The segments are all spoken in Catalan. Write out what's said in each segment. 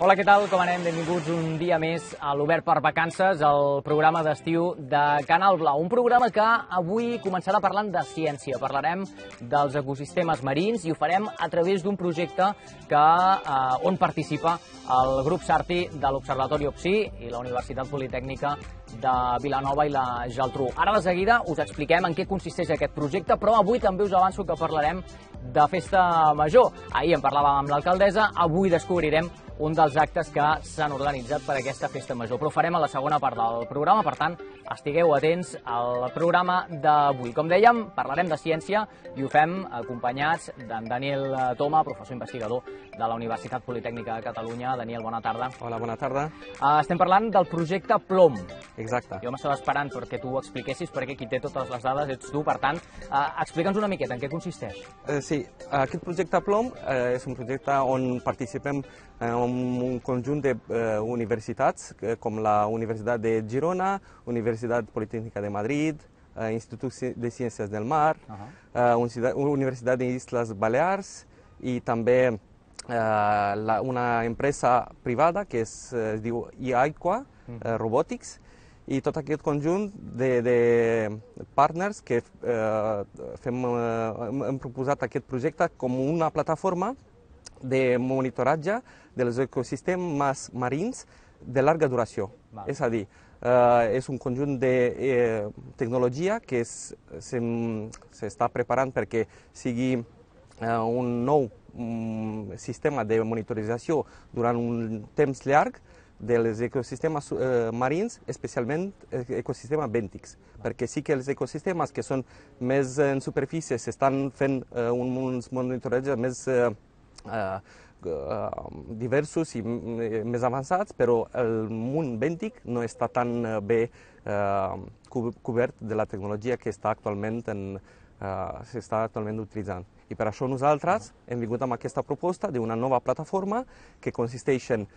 Hola, què tal? Com anem? Benvinguts un dia més a l'Obert per Vacances, el programa d'estiu de Canal Blau. Un programa que avui començarà parlant de ciència. Parlarem dels ecosistemes marins i ho farem a través d'un projecte on participa el grup Sarti de l'Observatori OPSI i la Universitat Politècnica de Vilanova i la Geltrú. Ara de seguida us expliquem en què consisteix aquest projecte, però avui també us avanço que parlarem de festa major. Ahir en parlàvem amb l'alcaldessa, avui descobrirem un dels actes que s'han organitzat per aquesta festa major. Però ho farem a la segona part del programa, per tant, estigueu atents al programa d'avui. Com dèiem, parlarem de ciència i ho fem acompanyats d'en Daniel Toma, professor investigador de la Universitat Politècnica de Catalunya. Daniel, bona tarda. Hola, bona tarda. Estem parlant del projecte Plom. Exacte. Jo m'estava esperant perquè tu ho expliquessis, perquè qui té totes les dades ets tu, per tant, explica'ns una miqueta en què consisteix. Sí, aquest projecte Plom és un projecte on participem un conjunt d'universitats, com la Universitat de Girona, Universitat Politècnica de Madrid, Institut de Ciències del Mar, Universitat de Isles Balears i també una empresa privada que es diu iAqua Robotics, i tot aquest conjunt de partners que hem proposat aquest projecte com una plataforma de monitoratge dels ecosistemes marins de llarga duració. És a dir, és un conjunt de tecnologia que s'està preparant perquè sigui un nou sistema de monitorització durant un temps llarg dels ecosistemes marins, especialment ecosistemes bèntics, perquè sí que els ecosistemes que són més en superfície s'estan fent uns monitoratges més diversos i més avançats, però el món bèntic no està tan bé cobert de la tecnologia que s'està actualment utilitzant. I per això nosaltres hem vingut amb aquesta proposta d'una nova plataforma que consisteix en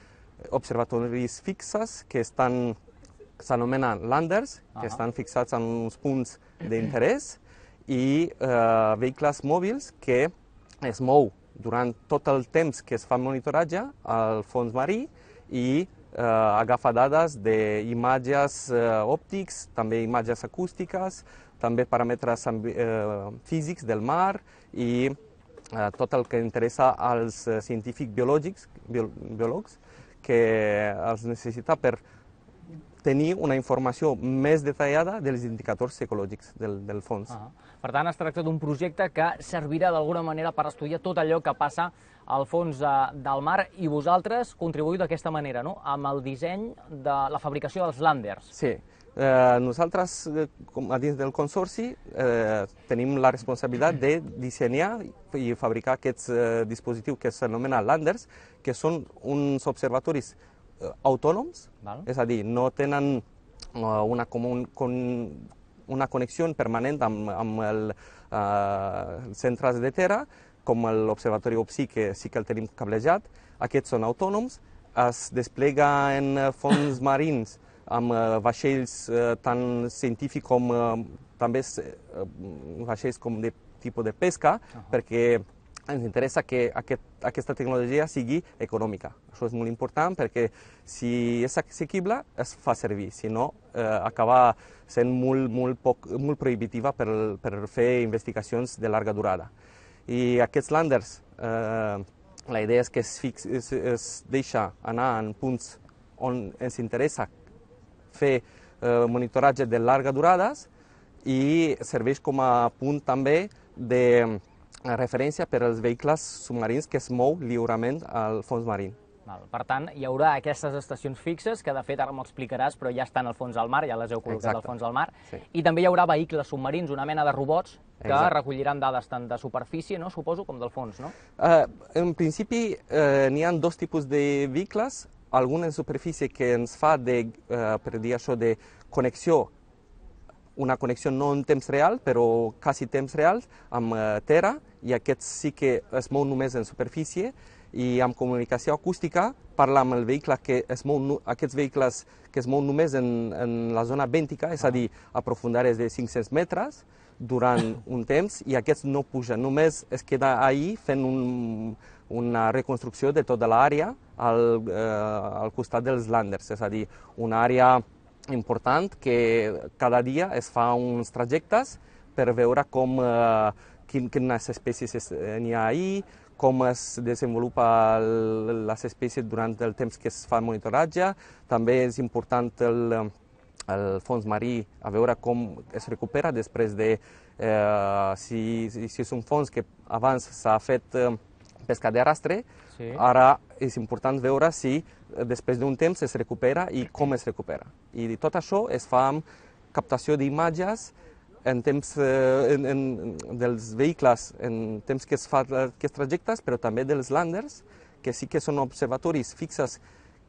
observatoris fixes que s'anomenen landers, que estan fixats en uns punts d'interès, i vehicles mòbils que es mou durant tot el temps que es fa monitoratge al fons marí i agafa dades d'imatges òptics, també imatges acústiques, també paràmetres físics del mar i tot el que interessa als científics biòlegs que els necessita per tenir una informació més detallada dels indicadors ecològics del fons. Per tant, es tracta d'un projecte que servirà d'alguna manera per estudiar tot allò que passa al fons del mar i vosaltres contribuïu d'aquesta manera, no?, amb el disseny de la fabricació dels landers. Sí. Nosaltres, a dins del consorci, tenim la responsabilitat de dissenyar i fabricar aquests dispositius que s'anomenen landers, que són uns observatoris autònoms, és a dir, no tenen una connexió permanent amb els centres de terra, com l'Observatori OPSI, que sí que el tenim cablejat. Aquests són autònoms, es desplega en fons marins amb vaixells tant científics com també vaixells com de tipus de pesca, perquè ens interessa que aquesta tecnologia sigui econòmica. Això és molt important perquè si és assequible es fa servir, si no acaba sent molt prohibitiva per fer investigacions de llarga durada. I aquests landers, la idea és que es deixa anar en punts on ens interessa fer monitoratge de llarga durada i serveix com a punt també de referència per als vehicles submarins que es mou lliurement al fons marí. Per tant, hi haurà aquestes estacions fixes, que de fet ara m'ho explicaràs, però ja estan al fons del mar, ja les heu col·locat al fons del mar, i també hi haurà vehicles submarins, una mena de robots, que recolliran dades tant de superfície, suposo, com del fons, no? En principi, n'hi ha dos tipus de vehicles, algun en superfície que ens fa per dir això, de connexió, una connexió no en temps real, però quasi temps real, amb terra, i aquests sí que es mou només en superfície, i amb comunicació acústica parla amb el vehicle que es mou, aquests vehicles que es mou només en la zona bèntica, és a dir, a profundàries de 500 metres durant un temps, i aquests no pugen, només es queda ahí fent una reconstrucció de tota l'àrea al costat dels landers, és a dir, una àrea important que cada dia es fa uns trajectes per veure quines espècies n'hi ha ahir, com es desenvolupen les espècies durant el temps que es fa el monitoratge. També és important el fons marí, a veure com es recupera després de si és un fons que abans s'ha fet pesca de rastre, sí. Ara és important veure si després d'un temps es recupera i com es recupera. I tot això es fa amb captació d'imatges en temps dels vehicles, en temps que es fa aquests trajectes, però també dels landers, que sí que són observatoris fixes,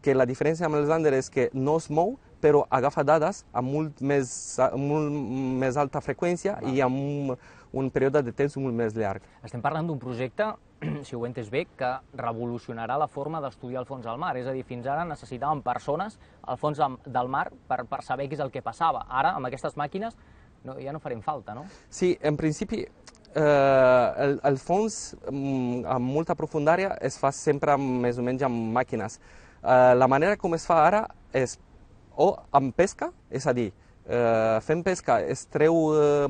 que la diferència amb els landers és que no es mou, però agafa dades amb molt més alta freqüència i amb un període de temps molt més llarg. Estem parlant d'un projecte, si ho he entès bé, que revolucionarà la forma d'estudiar el fons del mar. És a dir, fins ara necessitàvem persones al fons del mar per saber què és el que passava. Ara, amb aquestes màquines, ja no farem falta, no? Sí, en principi, el fons amb molta profundària es fa sempre més o menys amb màquines. La manera com es fa ara és o amb pesca, és a dir, fent pesca es treu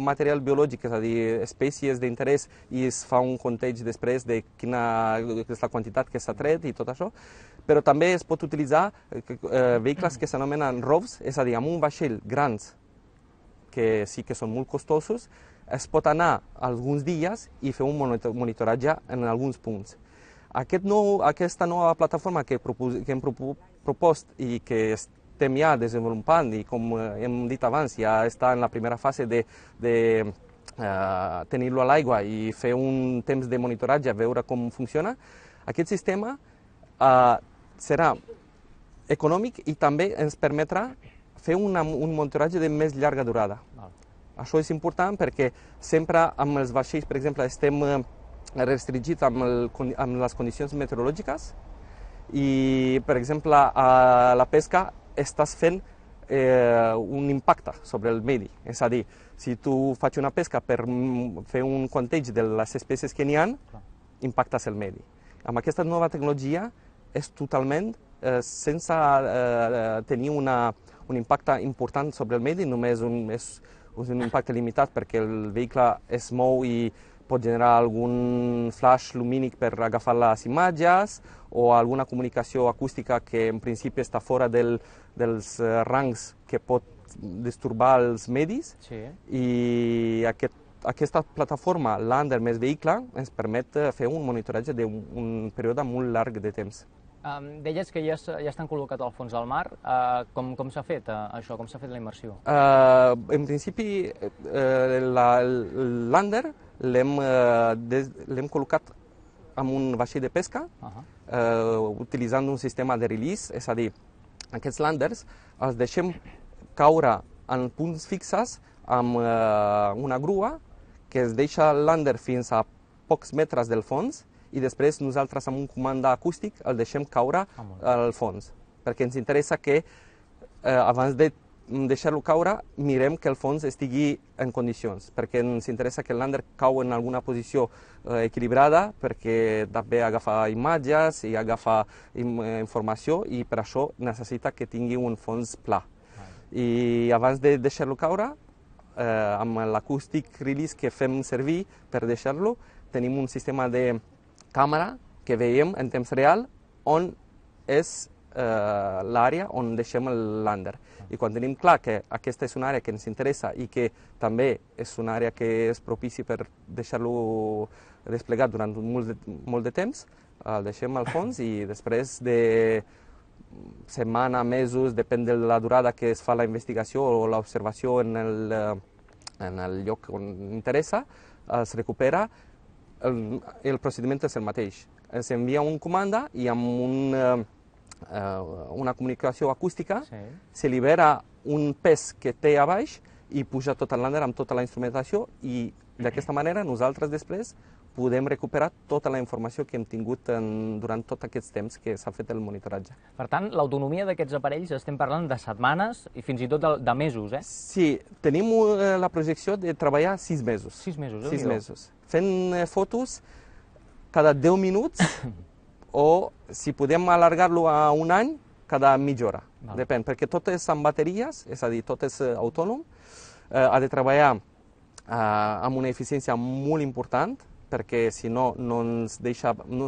material biològic, és a dir, espècies d'interès, i es fa un compteig després de quina és la quantitat que s'ha tret i tot això, però també es pot utilitzar vehicles que s'anomenen ROVs, és a dir, amb un vaixell grans, que sí que són molt costosos, es pot anar alguns dies i fer un monitoratge en alguns punts. Aquesta nova plataforma que hem propost i que estem ja desenvolupant i, com hem dit abans, ja està en la primera fase de tenir-lo a l'aigua i fer un temps de monitoratge, veure com funciona, aquest sistema serà econòmic i també ens permetrà fer un monitoratge de més llarga durada. Això és important perquè sempre amb els vaixells, per exemple, estem restringits amb les condicions meteorològiques i, per exemple, a la pesca estàs fent un impacte sobre el medi. És a dir, si tu faig una pesca per fer un compteig de les espècies que n'hi ha, impactes el medi. Amb aquesta nova tecnologia és totalment sense tenir un impacte important sobre el medi, només és un impacte limitat perquè el vehicle es mou i pot generar algun flash lumínic per agafar les imatges o alguna comunicació acústica que en principi està fora dels rangs que pot disturbar els medis. Sí. I aquesta plataforma Lander més vehicle ens permet fer un monitoratge d'un període molt llarg de temps. Deies que ja estan col·locats al fons del mar. Com s'ha fet això? Com s'ha fet la immersió? En principi, el Lander l'hem col·locat en un vaixell de pesca, utilitzant un sistema de release, és a dir, aquests landers els deixem caure en punts fixes amb una grua que es deixa el lander fins a pocs metres del fons i després nosaltres amb un comand acústic el deixem caure al fons, perquè ens interessa que abans de deixar-lo caure mirem que el fons estigui en condicions, perquè ens interessa que el lander cau en alguna posició equilibrada, perquè també agafa imatges i agafa informació i per això necessita que tingui un fons pla. I abans de deixar-lo caure, amb l'acústic release que fem servir per deixar-lo, tenim un sistema de càmera que veiem en temps real on és l'àrea on deixem el lander. I quan tenim clar que aquesta és una àrea que ens interessa i que també és una àrea que és propici per deixar-lo desplegat durant molt de temps, el deixem al fons i després de setmana, mesos, depèn de la durada que es fa la investigació o l'observació en el lloc on interessa, es recupera. El procediment és el mateix. Es envia un comanda i amb una comunicació acústica se libera un pes que té a baix i puja tot el lander amb tota la instrumentació i d'aquesta manera nosaltres després podem recuperar tota la informació que hem tingut durant tot aquest temps que s'ha fet el monitoratge. Per tant, l'autonomia d'aquests aparells estem parlant de setmanes i fins i tot de mesos, eh? Sí, tenim la projecció de treballar 6 mesos. 6 mesos, 6 mesos. Fent fotos cada 10 minuts o si podem allargar-lo a un any cada mitja hora. Val. Depèn, perquè tot és amb bateries, és a dir, tot és autònom, ha de treballar amb una eficiència molt important, perquè si no, no ens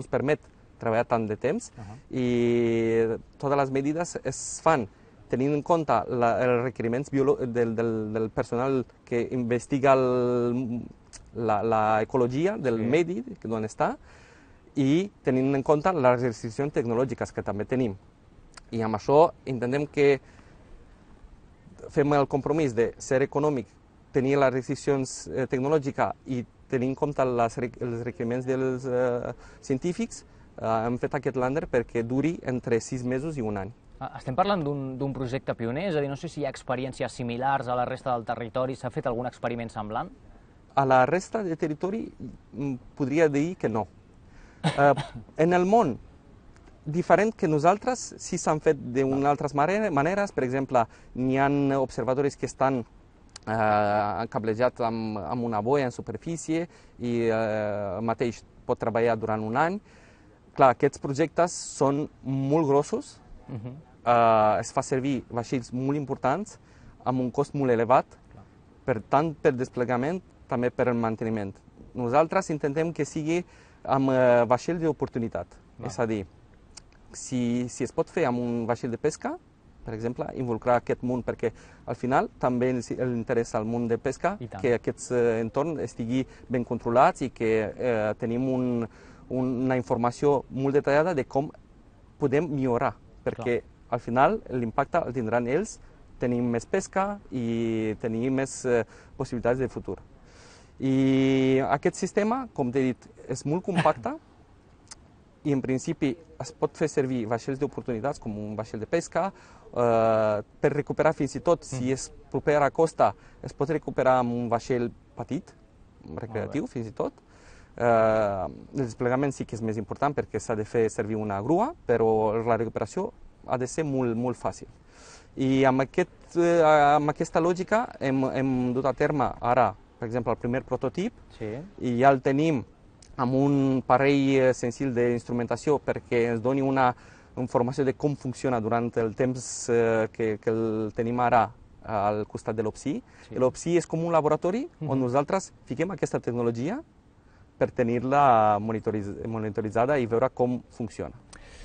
permet treballar tant de temps, i totes les mesures es fan tenint en compte els requeriments del personal que investiga l'ecologia del medi on està, i tenint en compte les restriccions tecnològiques que també tenim. I amb això intentem que fem el compromís de ser econòmic, tenir les restriccions tecnològiques i tenir en compte els requeriments dels científics. Hem fet aquest lander perquè duri entre 6 mesos i un any. Estem parlant d'un projecte pioner, és a dir, no sé si hi ha experiències similars a la resta del territori, s'ha fet algun experiment semblant? A la resta del territori podria dir que no. En el món, diferent que nosaltres, sí s'han fet d'unes altres maneres. Per exemple, n'hi ha observatoris que estan cablejats amb una boia en superfície i mateix pot treballar durant un any. Clar, aquests projectes són molt grossos, es fa servir vaixells molt importants amb un cost molt elevat, tant per desplegament, també per manteniment. Nosaltres intentem que sigui amb vaixells d'oportunitat, és a dir, si es pot fer amb un vaixell de pesca, per exemple, involucrar aquest món, perquè al final també interessa al món de pesca que aquests entorns estigui ben controlats i que tenim una informació molt detallada de com podem millorar, perquè al final l'impacte el tindran ells, tenim més pesca i tenim més possibilitats de futur. I aquest sistema, com t'he dit, és molt compacte i en principi es pot fer servir vaixells d'oportunitats com un vaixell de pesca per recuperar fins i tot, si és proper a la costa, es pot recuperar amb un vaixell petit, recreatiu fins i tot. El desplegament sí que és més important perquè s'ha de fer servir una grua, però la recuperació ha de ser molt fàcil. I amb aquesta lògica hem dut a terme ara, per exemple, el primer prototip, i ja el tenim amb un parell senzill d'instrumentació perquè ens doni una informació de com funciona durant el temps que el tenim ara al costat de l'OPSI. L'OPSI és com un laboratori on nosaltres fiquem aquesta tecnologia per tenir-la monitoritzada i veure com funciona.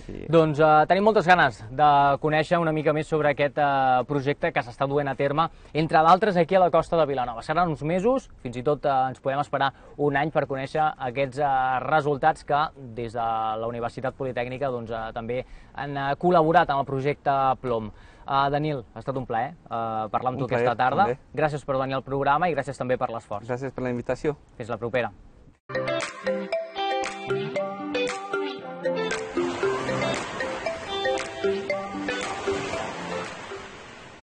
Doncs tenim moltes ganes de conèixer una mica més sobre aquest projecte que s'està duent a terme, entre d'altres aquí a la costa de Vilanova. Seran uns mesos, fins i tot ens podem esperar un any per conèixer aquests resultats que des de la Universitat Politècnica també han col·laborat en el projecte Plom. Daniel, ha estat un plaer parlar amb tu aquesta tarda. Gràcies per venir al programa i gràcies també per l'esforç. Gràcies per la invitació. Fins la propera.